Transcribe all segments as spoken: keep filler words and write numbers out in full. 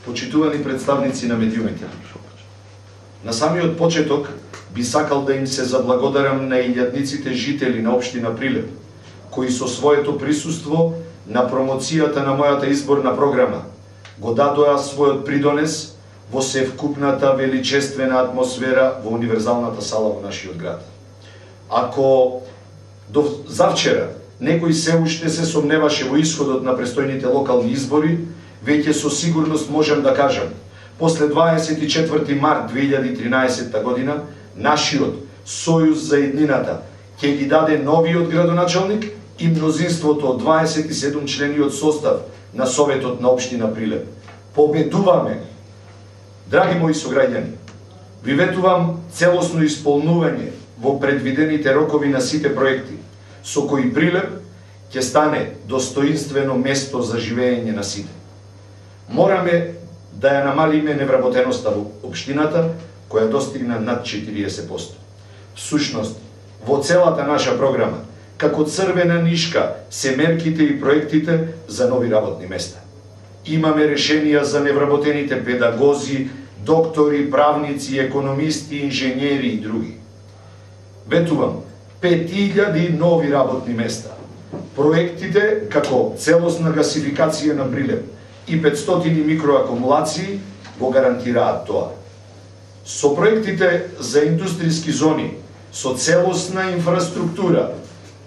почитувани представници на медиумите. На самиот почеток би сакал да им се заблагодарам на илјадниците жители на општина Прилеп, кои со своето присуство на промоцијата на мојата изборна програма го дадоа својот придонес во севкупната величествена атмосфера во универзалната сала во нашиот град. Ако до завчера некој се уште се сомневаше во исходот на престојните локални избори, веќе со сигурност можам да кажам, после дваесет и четврти март две илјади и тринаесетта година, нашиот Сојуз за еднината ќе ги даде новиот градоначалник и мнозинството од дваесет и седум члениот состав на Советот на општина Прилеп. Победуваме! Драги мои сограѓани, ви ветувам целосно исполнување во предвидените рокови на сите проекти, со кои Прилеп ќе стане достоинствено место за живење на сите. Мораме да ја намалиме невработеноста во општината, која достигна над четириесет проценти. Всушност, во целата наша програма, како црвена нишка се мерките и проектите за нови работни места. Имаме решенија за невработените педагози, доктори, правници, економисти, инженери и други. Ветувам, пет илјади нови работни места. Проектите како целосна гасификација на Прилеп и петстотини микроакумулации го гарантираат тоа. Со проектите за индустријски зони, со целосна инфраструктура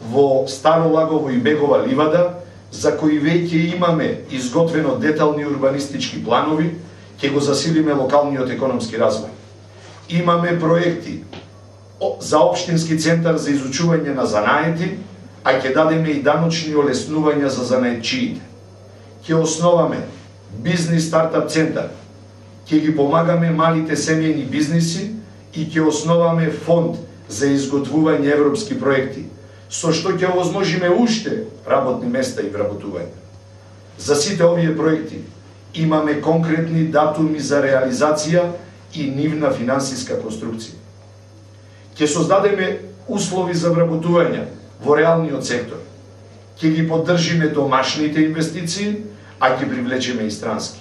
во Старо Лагово и Бегова ливада, за кои веќе имаме изготвено детални урбанистички планови, ќе го засилиме локалниот економски развој. Имаме проекти за општински центар за изучување на занаети, а ќе дадеме и даночни олеснувања за занаетчиите. Ќе основаме бизнис стартап центар, ќе ги помагаме малите семејни бизниси и ќе основаме фонд за изготвување европски проекти, со што ќе овозможиме уште работни места и вработување. За сите овие проекти имаме конкретни датуми за реализација и нивна финансиска конструкција. Ќе создадеме услови за вработување во реалниот сектор. Ќе ги поддржиме домашните инвестиции, а ќе привлечеме и странски.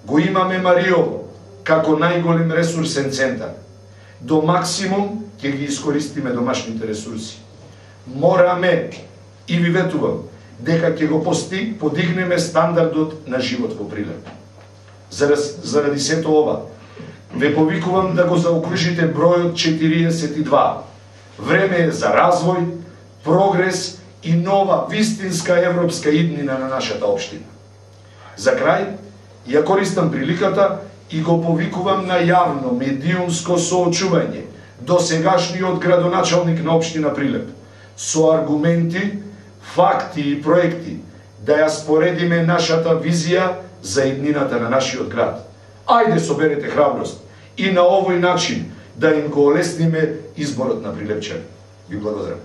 Го имаме Мариово како најголем ресурсен центар. До максимум ќе ги искористиме домашните ресурси. Мораме, и ви ветувам, дека ќе го пости, подигнеме стандардот на живот во Прилеп. Заради сето ова, ве повикувам да го заокружите бројот четириесет и два. Време е за развој, прогрес и нова вистинска европска иднина на нашата општина. За крај, ја користам приликата и го повикувам на јавно медиумско соочување до сегашниот градоначалник на општина Прилеп, со аргументи, факти и проекти, да ја споредиме нашата визија за еднината на нашиот град. Ајде соберете храброст и на овој начин да им го олесниме изборот на прилепчани. Ви благодарам.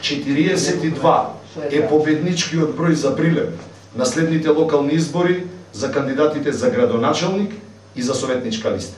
четириесет и два е победничкиот број за Прилеп на следните локални избори за кандидатите за градоначалник и за советничка листа.